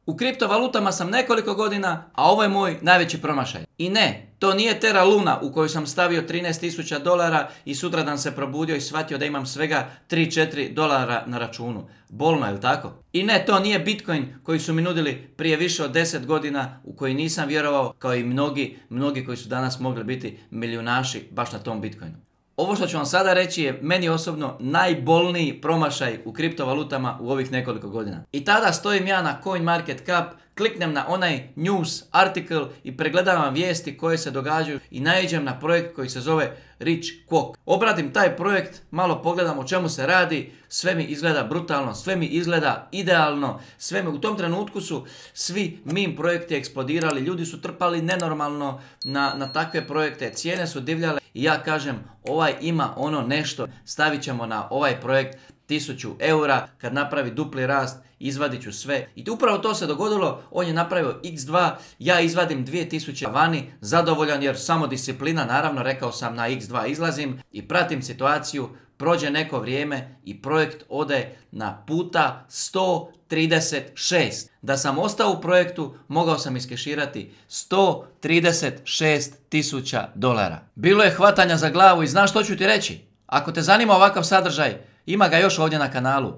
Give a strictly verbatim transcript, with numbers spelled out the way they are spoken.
U kriptovalutama sam nekoliko godina, a ovo je moj najveći promašaj. I ne, to nije Terra Luna u koju sam stavio trinaest tisuća dolara i sutradan se probudio i shvatio da imam svega tri četiri dolara na računu. Bolno, je li tako? I ne, to nije Bitcoin koji su mi nudili prije više od deset godina, u koji nisam vjerovao, kao i mnogi, mnogi koji su danas mogli biti milijunaši baš na tom Bitcoinu. Ovo što ću vam sada reći je meni osobno najbolniji promašaj u kriptovalutama u ovih nekoliko godina. I tada stojim ja na CoinMarketCap, kliknem na onaj news article i pregledavam vijesti koje se događaju i naiđem na projekt koji se zove Rich Quok. Obradim taj projekt, malo pogledam o čemu se radi, sve mi izgleda brutalno, sve mi izgleda idealno, sve mi u tom trenutku su svi meme projekti eksplodirali, ljudi su trpali nenormalno na, na takve projekte, cijene su divljale i ja kažem ovaj ima ono nešto, stavit ćemo na ovaj projekt tisuću eura, kad napravi dupli rast, izvadit ću sve. I upravo to se dogodilo, on je napravio iks dva, ja izvadim dvije tisuće vani, zadovoljan jer samo disciplina, naravno rekao sam na iks dva izlazim i pratim situaciju, prođe neko vrijeme i projekt ode na puta sto trideset šest. Da sam ostao u projektu, mogao sam iskeširati sto trideset šest tisuća dolara. Bilo je hvatanja za glavu i znaš što ću ti reći? Ako te zanima ovakav sadržaj, ima ga još ovdje na kanalu.